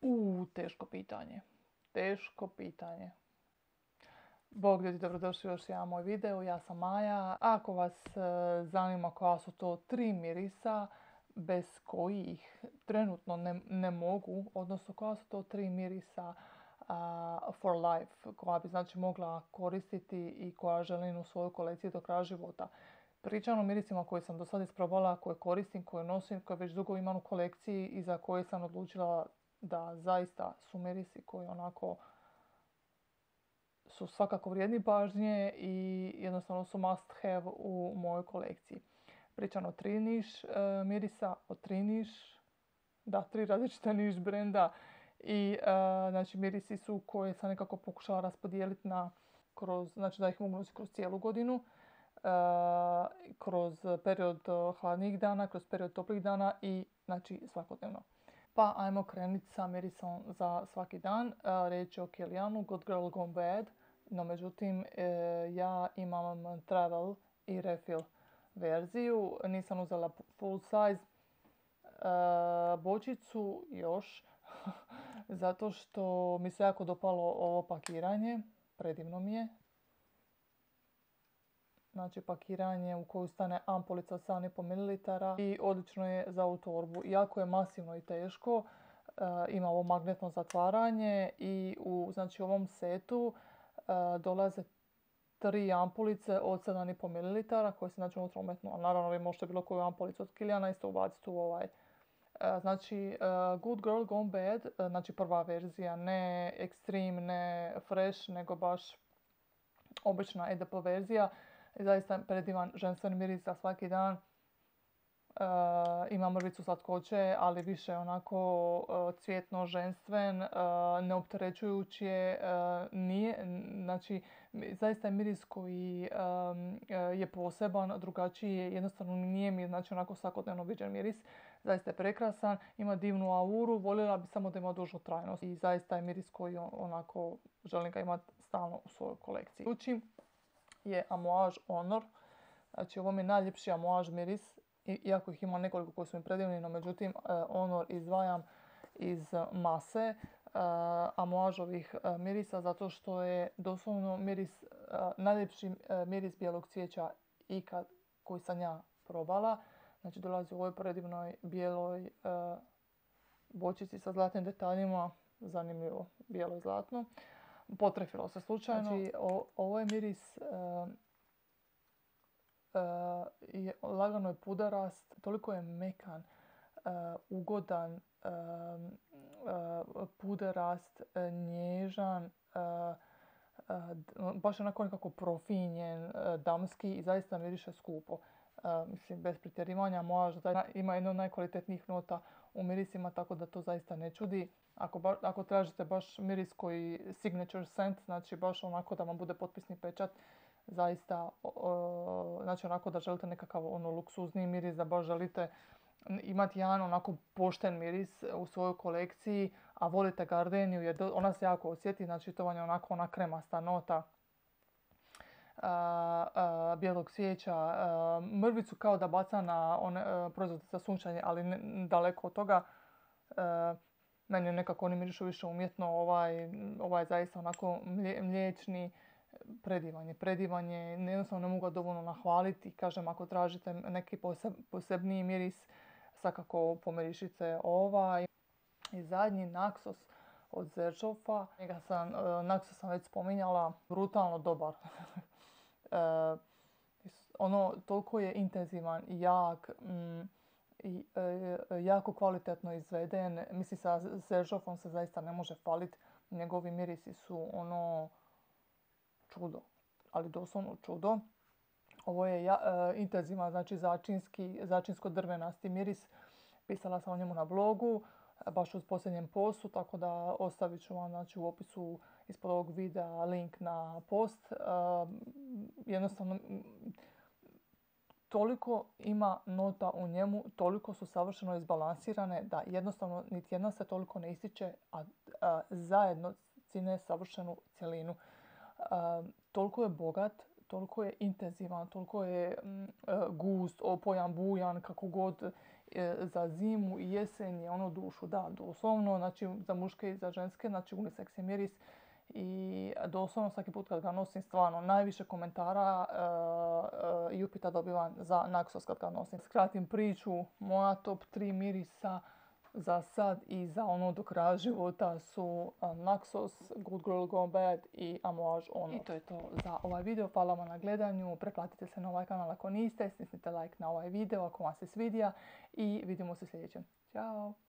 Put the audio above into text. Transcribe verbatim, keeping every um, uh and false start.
U, teško pitanje. Teško pitanje. Bog ljudi, dobrodošli u još jedan moj video, ja sam Maja. Ako vas e, zanima koja su to tri mirisa bez kojih trenutno ne, ne mogu, odnosno koja su to tri mirisa uh, for life, koja bi znači mogla koristiti i koja želim u svojoj kolekciji do kraja života. Pričam o mirisima koje sam do sada isprobala, koje koristim, koje nosim, koje već dugo imam u kolekciji i za koje sam odlučila da zaista su mirisi koji onako su svakako vrijedni pažnje i jednostavno su must have u mojoj kolekciji. Pričam o tri niš e, mirisa, o tri niš, da, tri različita niš brenda i e, znači mirisi su koje sam nekako pokušala raspodijeliti na kroz, znači da ih mogu nositi kroz cijelu godinu, e, kroz period hladnih dana, kroz period toplih dana i znači svakodnevno. Pa ajmo krenuti sa mirisom za svaki dan. Riječ je o Kilianu, Good Girl Gone Bad. No međutim, ja imam travel i refill verziju. Nisam uzela full size bočicu još. Zato što mi se jako dopalo ovo pakiranje. Predivno mi je. Znači pakiranje u koju stane ampulica od sedam i pol mililitara i odlično je za ovu torbu. Iako je masivno i teško, e, ima ovo magnetno zatvaranje i u znači, ovom setu e, dolaze tri ampulice od sedam i pol mililitara koje se znači unutra umetnu. A naravno vi možete bilo koju ampulicu od Kiliana isto ubaciti u ovaj. E, znači uh, Good Girl Gone Bad, e, znači prva verzija, ne Extreme, ne Fresh, nego baš obična E D P verzija. I zaista predivan ženstveni miris za svaki dan. E, ima mrvicu slatkoće, ali više onako e, cvjetno ženstven, e, neopterećujući je, e, nije, znači zaista je miris koji e, je poseban, drugačiji je, jednostavno nije mi znači onako svakodnevno viđen miris. Zaista je prekrasan, ima divnu auru, voljela bi samo da ima dužu trajnost i zaista je miris koji onako želim ga imati stalno u svojoj kolekciji. Učim je Amouage Honor. Znači ovo mi je najljepši Amouage miris, iako ih ima nekoliko koji su mi predivni, no međutim Honor izdvajam iz mase Amouageovih mirisa zato što je doslovno miris, najljepši miris bijelog cvijeća ikad koji sam ja probala. Znači dolazi u ovoj predivnoj bijeloj bočici sa zlatnim detaljima, zanimljivo, bijelo i zlatno. Potrefilo se slučajno. Znači, o, ovo je miris, uh, uh, je, lagano je puderast, toliko je mekan, uh, ugodan, uh, uh, puderast, uh, nježan, uh, uh, baš onako nekako profinjen, uh, damski i zaista miriše skupo. Uh, mislim, bez pretjerivanja, možda ima jedno od najkvalitetnijih nota u mirisima, tako da to zaista ne čudi. Ako, ba, ako tražite baš miris koji signature scent, znači baš onako da vam bude potpisni pečat, zaista, uh, znači onako da želite nekakav ono luksuzni miris, da baš želite imati jedan onako pošten miris u svojoj kolekciji, a volite gardeniju jer ona se jako osjeti, znači to vam je onako ona kremasta nota. Uh, uh, bijelog cvijeća, uh, mrvicu kao da baca na one uh, proizvode za sunčanje, ali ne, daleko od toga. Uh, meni nekako oni mirišu više umjetno, ovaj, ovaj zaista onako mlje, mliječni, predivan je, predivan je, jednostavno ne mogu ga dovoljno nahvaliti. Kažem, ako tražite neki poseb, posebniji miris, svakako pomirišite ovaj. I zadnji Naxos od Xerjofa. Njega sam, uh, Naxos sam već spominjala, brutalno dobar. uh, ono, toliko je intenzivan i jak mm, i uh, jako kvalitetno izveden. Mislim, sa Xerjofom se zaista ne može faliti. Njegovi mirisi su ono čudo, ali doslovno čudo. Ovo je ja, uh, intenzivan, znači začinski, začinsko-drvenasti miris. Pisala sam o njemu na blogu, baš uz posljednjem postu, tako da ostavit ću vam znači, u opisu ispod ovog videa link na post. Uh, jednostavno, toliko ima nota u njemu, toliko su savršeno izbalansirane da jednostavno niti jedna se toliko ne ističe, a, a zajedno čine savršenu cjelinu. A, toliko je bogat, toliko je intenzivan, toliko je mm, gust, opojan, bujan, kako god. za zimu i jesen je ono dušu da doslovno, znači za muške i za ženske, znači unisex je miris i doslovno svaki put kad ga nosim stvarno najviše komentara uh, uh, i upita dobivam za Naxos kad ga nosim. Skratim priču, moja top tri mirisa za sad i za ono do kraja života su uh, Naxos, Good Girl Gone Bad i Amouage Ono. I to je to za ovaj video. Hvala vam na gledanju. Pretplatite se na ovaj kanal ako niste. Stisnite like na ovaj video ako vam se svidija i vidimo se sljedećem. Ćao!